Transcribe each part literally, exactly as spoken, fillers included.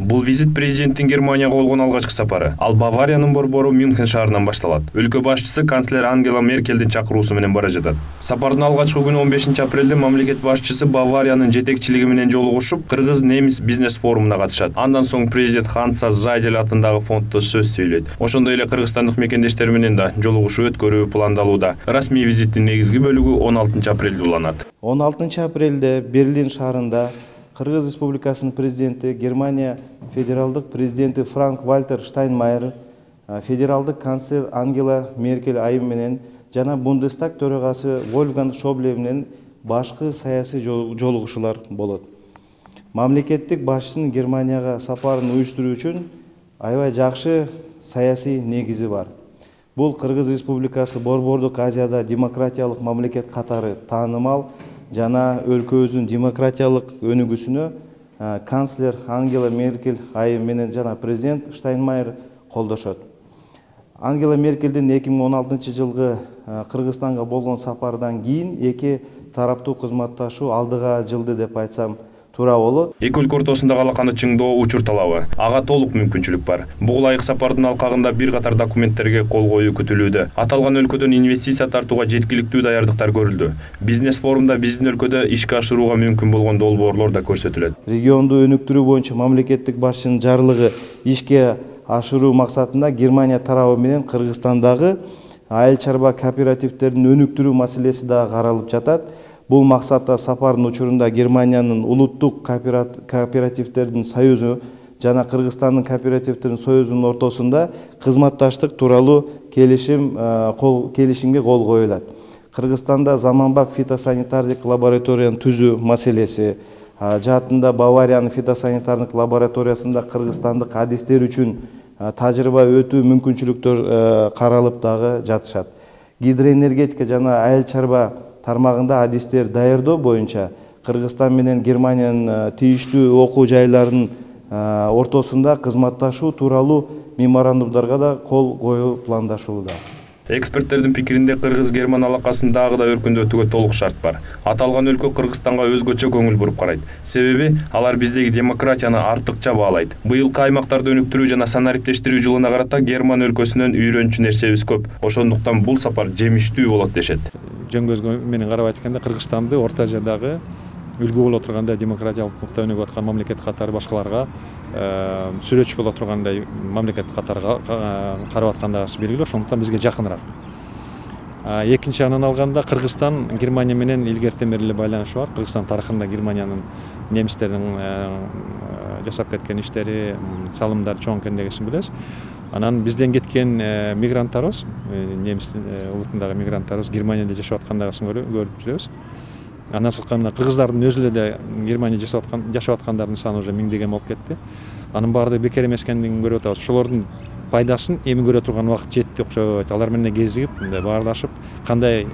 Бул визит президенттин Германияга болгон алгачкы сапары. Ал Бавариянын борбору Мюнхен шаарынан башталат. Өлкө башчысы канцлер Ангела Меркелдин чакыруусу менен бара жатат. Сапардын алгачкы күнү он бешинчи апрелде мамлекет башчысы Бавариянын жетекчилиги менен жолугушуп, кыргыз-немис бизнес форумуна катышат. Андан соң президент Ханса Зайдель атындагы фонддо сөз сүйлөйт. Ошондой эле кыргызстандык мекендештер менен да жолугушуу өткөрүү пландалууда. Расмий визиттин негизги бөлүгү он алтынчы апрелде уланат. он алтынчы апрелде Берлин шаарында Кыргыз Республикасынын президенти, Германия федералдык президенти Франк-Вальтер Штайнмайер, федералдык канцлер Ангела Меркель айым менен жана Бундестаг төрагасы Вольфганг Шобле менен башкы саясий жолугушуулар болот. Мамлекеттик башчынын Германияга сапарын уюштуруу үчүн аябай жакшы саясий негизи бар. Бул Кыргыз Республикасы Борбордук Азияда демократиялык мамлекет катары таанымал жана өлкөбүздүн демократиялык өнүгүүсүнө канцлер Ангела Меркель айым менен жана президент Штайнмайер колдошот. Ангела Меркелдин эки миң он алтынчы жылгы Кыргызстанга болгон сапардан кийин эки тараптуу кызматташуу алдыга жылды деп айтсам туура болот. Эки өлкө ортосундагы алаканы чыңдоо учур талабы. Ага толук мүмкүнчүлүк бар. Буга ылайык сапардын алкагында бир катар документтерге кол коюу күтүлүүдө. Аталган өлкөдөн инвестиция тартууга жеткиликтүү даярдыктар көрүлдү. Бизнес форумда биздин өлкөдө ишке ашырууга мүмкүн болгон долбоорлор да көрсөтүлөт. Регионду өнүктүрүү боюнча мамлекеттик башчынын жарлыгы ишке ашыруу максатында Германия тарабы менен Кыргызстандагы айыл чарба кооперативтерин өнүктүрүү маселеси да каралып жатат. Бул максатта сапардын учурунда Германиянын улуттук кооперативтердин союзу жана Кыргызстандын кооперативтердин союзунун ортосунда кызматташтык тууралуу келишим кол келишимге кол коюлат. Кыргызстанда заманбап фитосанитардык лабораторияны түзүү маселеси, жаатында Бавариянын фитосанитардык лабораториясында кыргызстандык адистер үчүн тажрыйба өтүү мүмкүнчүлүктөр каралып дагы жатышат. Гидроэнергетика жана айыл чарба тармагында адистер даярдоо боюнча Кыргызстан менен Германиянын тийиштүү окуу жайларынын ортосунда кызматташуу тууралуу меморандумдарга да кол коюу пландашууда. Эксперттердин пикиринде кыргыз-герман алакасын дагы да өркүндөтүүгө толук шарт бар. Аталган өлкө Кыргызстанга өзгөчө көңүл буруп карайт. Себеби алар биздеги демократияны артыкча баалайт. Быйылкы аймактарды өнүктүрүү жана санариптештирүү жылына карата Герман өлкөсүнөн үйрөнчү нерсебиз көп. Ошондуктан бул сапар жемиштүү болот дешет. Жөн көзгө менен карап айтканда Кыргызстанды Орто Азиядагы үлгү боло тургандай демократиялык нукта өнүгүп аткан мамлекет катары башкаларга сүрөтчү боло тургандай мамлекет катары карап аткандыгы белгилүү. Ошондуктан бизге жакыныраак. Экинчи анан алганда Кыргызстан Германия менен илгертен бери эле байланышы бар. Кыргызстан тарыхында Германиянын немистердин жасап кеткен иштери, салымдары чоң экендигин билебиз. Анан бизден кеткен мигранттарыбыз, немис улутундагы мигранттарыбыз Германияда жашап аткандыгын көрүп жүрөбүз. Андан сырткары кыргыздардын өзү эле Германияда жашап аткан жашап аткандардын саны уже миңдеген болуп кетти. Анын баардыгы бекер эмес экендигин көрүп атабыз. Ошолордун пайдасын эми көрө турган убакыт жетти окшойт. Алар менен кезигип, мындай баарлашып, кандай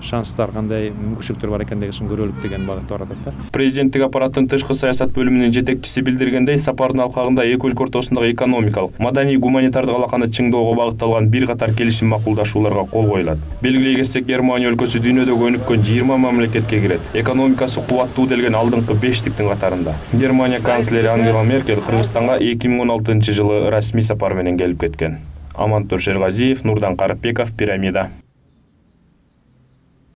шанстар, кандай мүмкүнчүлүктөр бар экендигин көрөлүк деген багытта барат да. Президенттик аппараттын тышкы саясат бөлүмүнүн жетекчиси билдиргендей, сапардын алкагында эки өлкө ортосундагы экономикалык, маданий, гуманитардык алаканы чыңдоого багытталган бир катар келишим макулдашууларга кол коюлат. Белгилей кетсек, Германия өлкөсү дүйнөдөгү өнүккөн жыйырма мамлекетке кирет. Экономикасы кубаттуу делген алдыңкы бештиктин катарында. Германия канцлери Ангела Меркель Кыргызстанга эки миң он алтынчы жылы расмий сапар менен келип кеткен. Амантур Шергазиев, Нурдан Карыпбеков, Пирамида.